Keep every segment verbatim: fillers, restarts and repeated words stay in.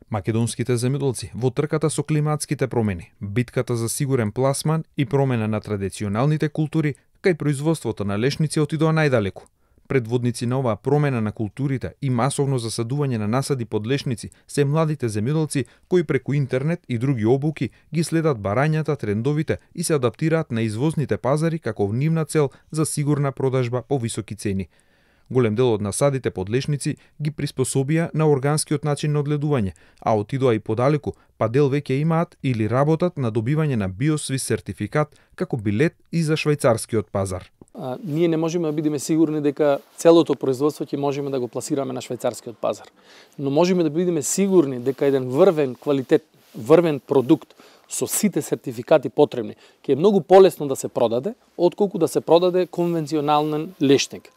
Македонските земјоделци во трката со климатските промени, битката за сигурен пласман и промена на традиционалните култури, кај производството на лешници отидоа најдалеку. Предводници на оваа промена на културите и масовно засадување на насади под лешници се младите земјоделци кои преку интернет и други обуки ги следат барањата, трендовите и се адаптираат на извозните пазари како нивна цел за сигурна продажба по високи цени. Голем дел од насадите под лешници ги приспособија на органскиот начин на одледување, а отидоа и подалеку, па дел веќе имаат или работат на добивање на биосвис сертификат како билет и за швајцарскиот пазар. А, ние не можеме да бидеме сигурни дека целото производство ќе можеме да го пласираме на швајцарскиот пазар. Но можеме да бидеме сигурни дека еден врвен квалитет, врвен продукт со сите сертификати потребни ќе е многу полесно да се продаде, отколку да се продаде конвенционален лешник.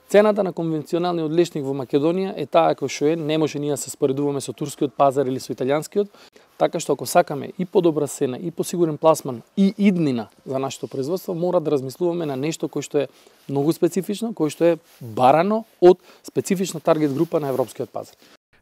Цената на конвенционалниот лешник во Македонија е таа кој што е, не може ние да се споредуваме со турскиот пазар или со италијанскиот, така што ако сакаме и подобра цена, и посигурен пласман, и иднина за нашето производство, мора да размислуваме на нешто кој што е многу специфично, кој што е барано од специфична таргет група на европскиот пазар.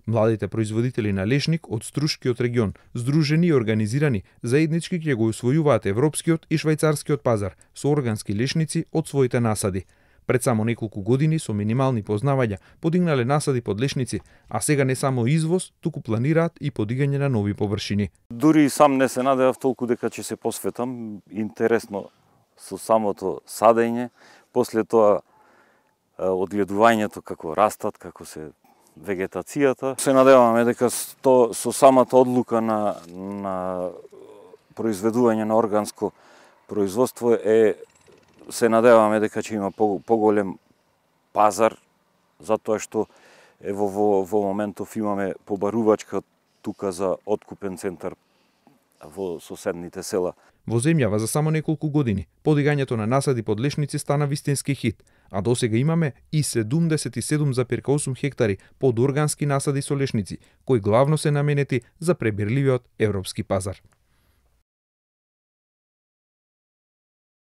Младите производители на лешник од Струшкиот регион, здружени и организирани, заеднички ќе го усвојуваат европскиот и швајцарскиот пазар со органски лешници од своите насади. Пред само неколку години со минимални познавања подигнале насади под лешници, а сега не само извоз, туку планираат и подигање на нови површини. Дури и сам не се надевав толку дека ќе се посветам. Интересно со самото садење, после тоа одгледувањето како растат, како се вегетацијата. Се надеваме дека со, со самата одлука на, на произведување на органско производство е се надеваме дека ќе има поголем пазар, затоа што ево во, во моментов имаме побарувачка тука за откупен центар во соседните села. Во земјава за само неколку години подигањето на насади под лешници стана вистински хит, а досега имаме и седумдесет и седум зарез осум хектари под органски насади со лешници, кои главно се наменети за пребирливиот европски пазар.